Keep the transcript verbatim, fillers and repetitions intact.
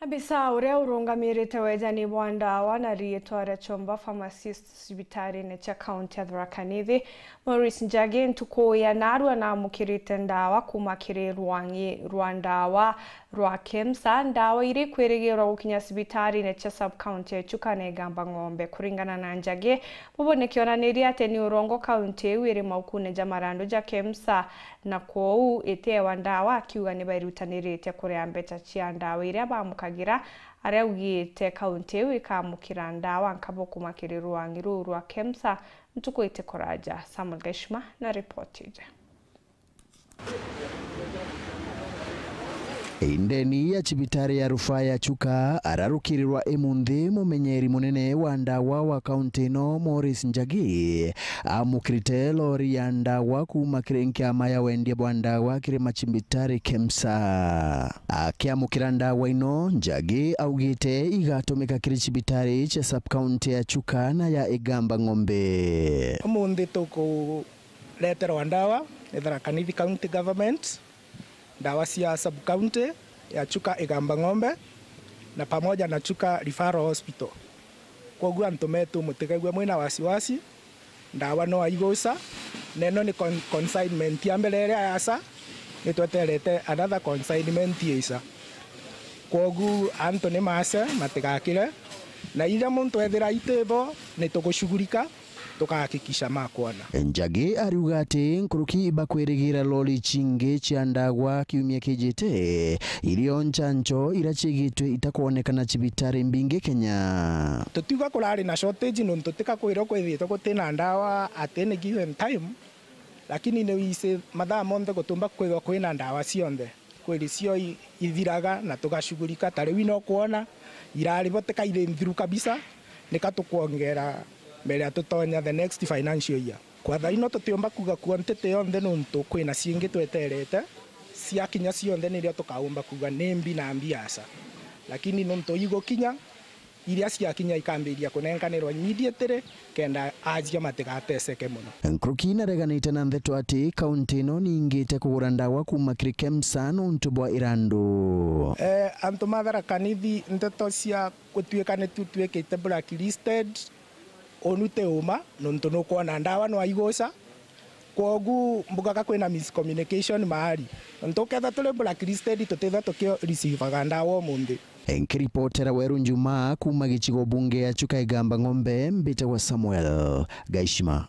Abisa uria urungamirite wejani bwa ndawa na riitwa ria Chomba Pharmacist cibitarine cia kaunti ya Tharaka Nithi, Maurice Njagi, ntuku ya naarua naamukirite ndawa kuuma kiri rwang'i rwa ndawa rwa KEMSA, ndawa iria ikwirigirwa gukinya cibitarine cia sub-county ya Chuka na Igamba Ng'ombe. Kuringana na Njagi, bubu ni kionaniria ati ni urongo kaunti iu iri maukune ja marandu ja KEMSA, na kwoou itiewa ndawa, akiuga ni bairutanirite kuria mbeca cia ndawa iria bamukagira, aria augite kaunti iu ikamukira ndawa nkabo kuuma kiri rwang'i ruu rwa KEMSA ntuku itikuraja. Samuel Gaishima na ripoti iji. Indeni ya cibitari ya rufaa ya Chuka ararukirirwa imunthi mumenyeri munene wa ndawa wa kaunti ino, Maurice Njagi, amukirite lori ya ndawa kuuma kiri nkiama ya wendia bwa ndawa kiri macibitari KEMSA. Akiamukira ndawa ino, Njagi augite igatumika kiri cibitari cia sub-county ya Chuka na ya Igamba Ng'ombe. Umunthi tuku reterwa ndawa ni Tharaka Nithi County Government, ndawa cia sub-county ya Chuka Igamba Ng'ombe na pamoja na Chuka Referral Hospital. Kwoguo antu metu mutikaigue mwina wasiwasi, ndawa no aiguca, na ino ni con-, consignment ya mbere iria yaca, ni tweterete another consignment ica. Kwoguo antu ni mace, matigakire, na iria muntu ethira itibo, ni tugushugurika, tukahakikisha makwona. Njagi ariuga ati nkuruki bakwirigira lori cingi cia ndagwa kiumia kijite, irio ncancho ira ciigitwe itakwonekana cibitari mbingi Kenya. Tutiuga kurari na shortage nontu tika kwirwo kwithitwe gutina ndawa at any given time, lakini ni wisi mathaa monthe gutumba kwithwa kwina ndawa cionthe. Kweli cio i-, ithiraga na tugashugurika. Ta riu ino kwona irari bo tika iri nthiru kabisa, nika tukwongera mbere ya tutonya the next financial year. Kwa thaa ino tutiumba kuuga kuo ntete yonthe nontu kwina ciingi tweterete, ciakinya cionthe nirio tukaumba kuuga ni mbi na mbi aca. Lakini nontu igukinya, iria ciakinya ikambiria kunenkanirwa immediately kenda ajia matigateseke mono. Nkuruki nareganite na ntheto ati kaunti ino niingite kugura ndawa kuuma kiri KEMSA nontu bwa irandu. Eh, antu ma Tharaka Nithi, nteto cia gutuika ni tutuikite blacklisted, unu ti uma, nontu nukwona ndawa no aiguca. Kwogu mbugaga kwina miscommunication mahali. Nontu ukethira turi blacklisted, tutithwa tuki receivaga ndawa umunthi. Nkiripotera Weru Njumaa kuuma gicigo bunge ya Chuka Igamba Ng'ombe, mbitagwa Samuel Gaishima.